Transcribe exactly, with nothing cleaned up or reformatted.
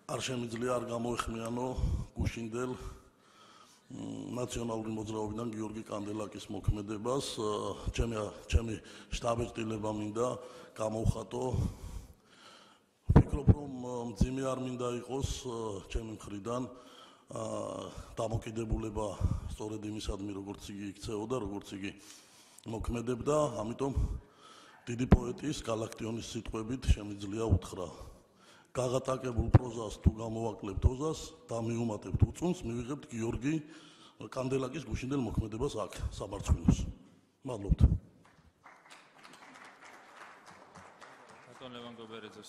არ შემიძლია არ გამოეხმიანო გუშინდელ ნაციონალური მოძრაობიდან გიორგი კანდელაკის მოქმედებას. ჩემი ჩემი შტაბ-ეჭდილება მინდა გამოვხატო. ვფიქრობ, რომ მძიმე არ მინდა იყოს ჩემი მხრიდან დამოკიდებულება სწორედ იმისადმი, როგორც იგი იქცეოდა, როგორც იგი მოქმედებდა, ამიტომ დიდი პოეტის გალაქტიონის სიტყვებით შემიძლია უთხრა. გაღატაკებულ პროზას თუ გამოვაკლებთ ოზას და მიუმატებთ უწუნს, მივიღებთ გიორგი კანდელაკის გუშინდელ მოქმედებას აქ, საბარცხვინოს. მადლობთ. ბატონ ლევან გობერეძე.